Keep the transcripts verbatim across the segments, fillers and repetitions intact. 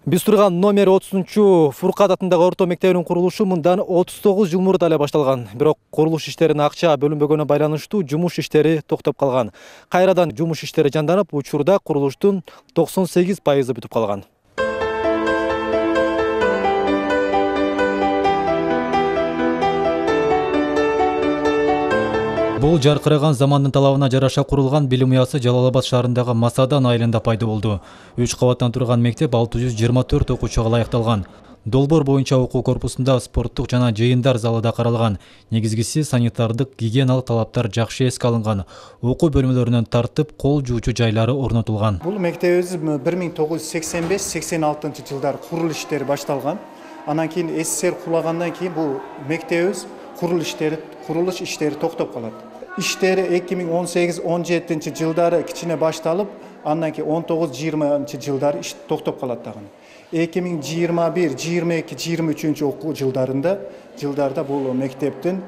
Биз турган номер отузунчу Фуркат атындагы орто мектебинин курулушу мындан отуз тогуз жыл мурда эле башталган. Бирок курулуш иштерине акча бөлүнбөгөнүнө байланыштуу жумуш иштери токтоп калган. Кайрадан жумуш иштери жанданып, учурда курулуштун токсон сегиз пайызы бүтүп калган. Бул жаркыраган замандын талабына жараша курулган билим уясы Жалал Абад шаарындагы Масадан айылында пайда болду. үч кабаттан турган мектеп алты жүз жыйырма төрт окуучуга ылайыкталган. Долбоор боюнча окуу корпусунда спорттук жана жыйындар залы да каралган. Негизгиси санитардык гигиеналык талаптар жакшы эске алынган. Окуу бөлмөлөрүнөн тартып кол жуучу жайлары орнотулган. Бул мектебибиз бир миң тогуз жүз сексен беш сексен алтынчы жылдары курулуш иштери башталган. Анан кийин СССР кулагандан кийин бул мектебибиз курулуш иштери курулуш иштери токтоп калат. Иштери эки миң он сегиз он жетинчи жылдары кичине башталып, андан кийин он тогуз жыйырманчы жылдары иш токтоп калат дагы. эки миң жыйырма бир жыйырма эки жыйырма үчүнчү окуу жылдарында жылдарда бул мектептин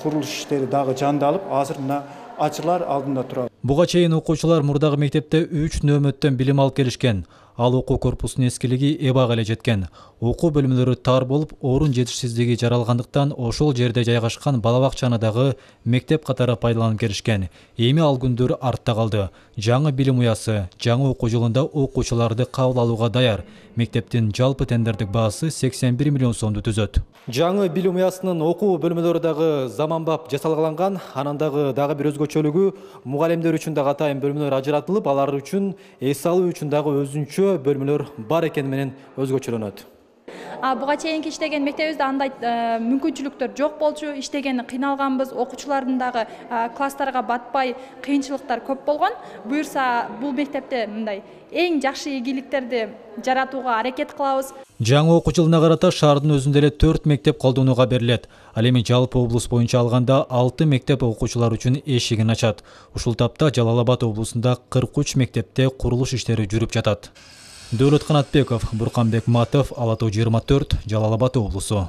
курулуш иштери дагы жандалып, азыр мына ачылар алдында турат. Буга чейин окуучулар мурдагы мектепте үч нөөмөттөн билим алып келишкен. Ал окуу корпусунун эскилиги эбак эле жеткен. Окуу бөлмөлөрү тар болуп, орун жетишсиздиги жаралгандыктан ошол жерде жайгашкан бала бакчаны дагы мектеп катары пайдаланып келишкен. Эми ал күндөр артта калды. Жаңы билим уясы жаңы окуу жылында окуучуларды кабыл алууга даяр. Мектептин жалпы тендердик баасы сексен бир миллион сомду түзөт. Жаңы билим уясынын окуу бөлмөлөрү дагы заманбап жасалган, анан дагы дагы бир өзгөчөлүгү мугалимдер үчүн дагы атайын бөлмөлөр ажыратылып, алар үчүн эс алуу үчүн дагы өзүнчө бөлмөлөр бар экени менен өзгөчөлөнөт. Буга чейинки иштеген мектебибизде андай мүмкүнчүлүктөр жок болчу, иштеген кыйналганбыз, окуучулардын дагы класстарга батпай кыйынчылыктар көп болгон. Буюрса бул мектепте мындай эң жакшы ийгиликтерди жаратууга аракет кылабыз. Жаңы окуу жылына карата шаардын өзүндө эле төрт мектеп колдонууга берилет. Ал эми жалпы облус боюнча алганда алты мектеп окуучулар үчүн эшигин ачат. Ушул тапта Жалал Абад облусунда кырк үч мектепте курулуш иштери жүрүп жатат. Дөөлөт Канатбеков, Бурканбек Матов, Ала тоо жыйырма төрт, Жалал Абад облусу.